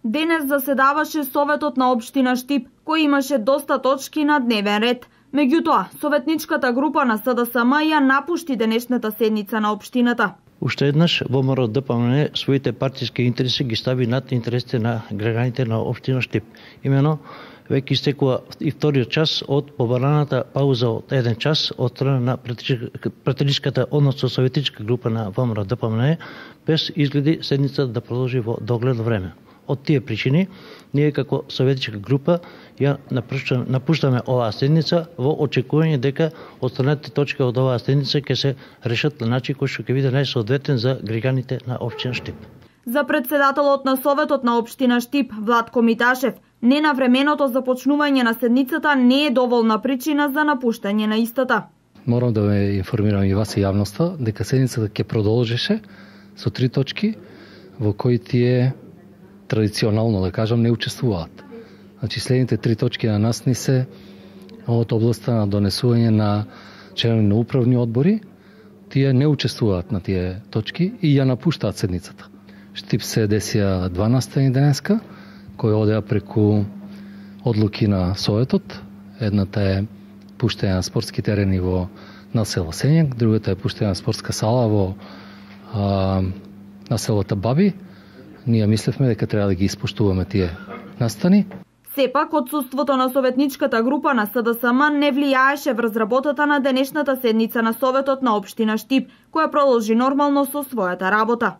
Денес заседаваше Советот на општина Штип, кој имаше доста точки на дневен ред. Меѓутоа, советничката група на СДСМ ја напушти денешната седница на општината. Уште еднаш ВМРО ДПМН своите партиски интереси ги стави над интересите на граѓаните на општина Штип. Имено, веќе истекува и вториот час од побараната пауза од 1 час од страна на пратеничката, односно советничка група на ВМРО ДПМН, без изгледи седница да продолжи во догледно време. Од тие причини, ние како советничка група ја напуштаме оваа седница во очекување дека останатите точки од оваа седница ќе се решат на начин кој што ќе биде најсоодветен за граѓаните на општина Штип. За председателот на Советот на општина Штип, Владко Миташев, ненавременото започнување на седницата не е доволна причина за напуштање на истата. Морам да ве информирам и вас и јавноста дека седницата ќе продолжеше со 3 точки во кои тие традиционално, да кажам, не учествуваат. Значи, следните 3 точки на нас ни се од областта на донесување на членови на управни одбори. Тие не учествуваат на тие точки и ја напуштаат седницата. Штип се десија 12 денеска, кој одеа преку одлуки на Советот. Едната е пуштање на спортски терени во насело Сењак, другата е пуштање на спортска сала во населото Баби. Ние мислевме дека треба да ги испоштуваме тие настани. Сепак, отсуството на советничката група на СДСМ не влијаеше врз работата на денешната седница на Советот на општина Штип, која продолжи нормално со својата работа.